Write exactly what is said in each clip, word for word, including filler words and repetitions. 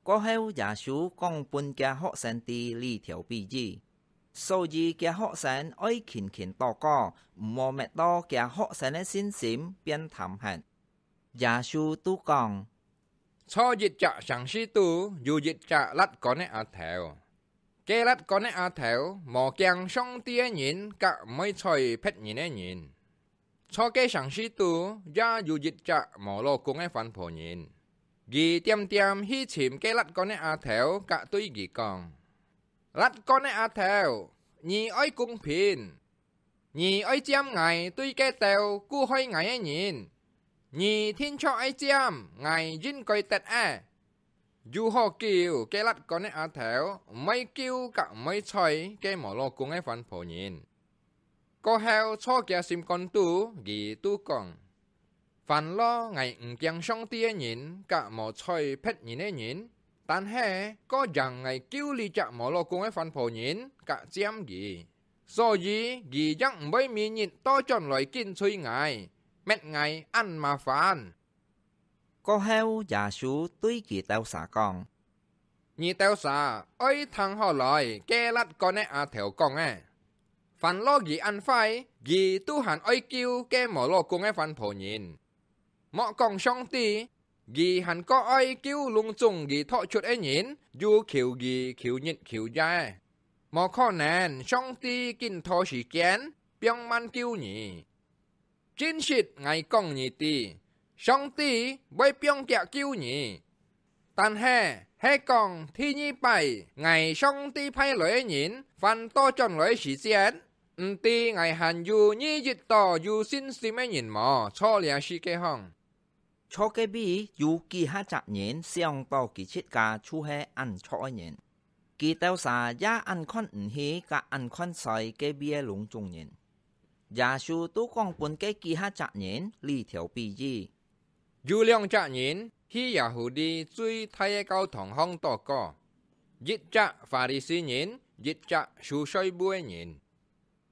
過後，耶穌講分厥學生知這條比喻，所以厥學生愛勤勤禱告，毋好搣到厥學生个信心變淡忒。耶穌都講：「在一隻城市肚有一隻辣官个阿頭。該辣官个阿頭無驚上帝个人，甲毋會睬別人个人。在該城市肚也有一隻無老公个番婆人，佢恬恬去尋該辣官个阿頭，甲對佢講：『辣官个阿頭，你愛公平！你愛佔𠊎對該兜跍害𠊎个人！你定著愛佔𠊎應該得个！』」有好久，該辣官个阿頭毋會救甲毋會睬該無老公个番婆人。過後，在厥心肝肚，佢都講：「凡落𠊎毋驚上帝个人，甲無睬別人个人，但係過贏𠊎救這隻無老公个番婆人，甲佔佢，所以佢正毋會每日倒轉來緊隨𠊎，搣𠊎恁麻煩。」過後，耶穌對佢兜儕講：「你兜儕愛聽好來該辣官个阿頭講个：凡落佢恁壞，佢都還愛救該無老公个番婆人。莫講上帝，佢還過愛救攏總佢擇出个人，又求佢求日求夜。無可能上帝緊拖時間，放慢救你。 真實𠊎講你知，上帝會放厥救你。但係，係講第二擺𠊎上帝派來个人還倒轉來个時節，毋知𠊎還有遇得到有信心个人無？」在這世界項。 在該位有幾下隻人想到佢自家就係恁著个人，佢兜儕也恁看毋起甲恁看衰該位个攏總人。耶穌都講分該幾下隻人這條比喻：「有兩隻人去耶戶地最大个教堂項禱告，一隻法利賽人，一隻收稅務个人。」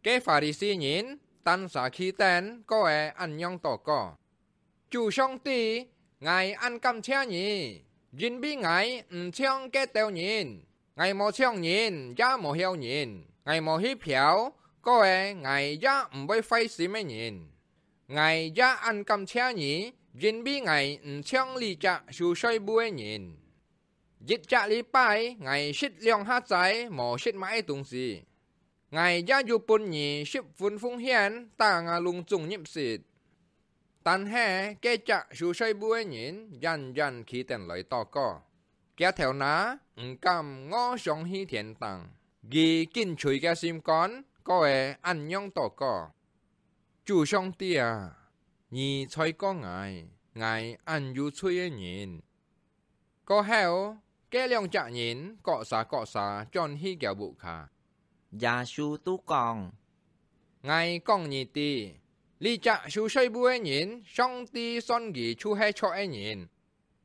該法利賽人單儕企等，過仔恁樣禱告：「主上帝，𠊎恁感謝你，因為𠊎毋像該兜人，𠊎無搶人，也無嬈人，𠊎無去嫖，過仔𠊎也毋會壞心个人。𠊎也恁感謝你，因為𠊎毋像這隻收稅務个人。一隻禮拜，𠊎食兩下齋，無食麼个東西。 𠊎也有分你十分奉獻，打𠊎攏總入息。」但係該隻收稅務个人遠遠企等來禱告，厥頭那毋敢臥上去天頂，佢緊捶厥心肝，過仔恁樣禱告：「主上帝啊，你再過𠊎，𠊎恁有罪个人！」 過後，該兩隻人各儕各儕轉去厥屋下。耶穌都講：「𠊎講你知，這隻收稅務个人，上帝算佢就係著个人，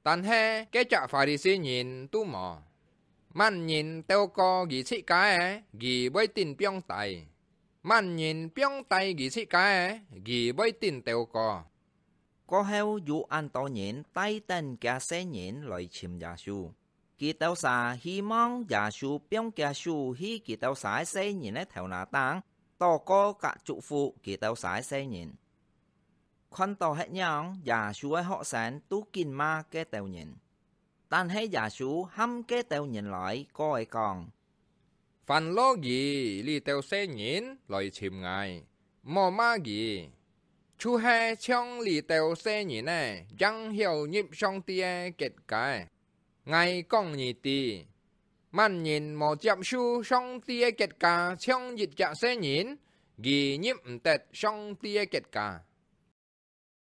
但係該隻法利賽人都無。麼人鬥過佢自家个，佢會頂放低；麼人放低佢自家个，佢會頂鬥過。」 過後有恁多人帶等厥細人來尋耶穌，佢兜儕希望耶穌放厥手去佢兜儕个細人个頭那頂，禱告甲祝福佢兜儕个細人。看到係恁樣，耶穌个學生都緊罵該兜人。 但係耶穌喊該兜人來，過仔講：「凡落佢這兜細人來尋𠊎，莫罵佢，就係像這兜細人仔正曉入上帝个國家。𠊎講你知，麼人無接受上帝个國家像一隻細人，佢入毋得上帝个國家。」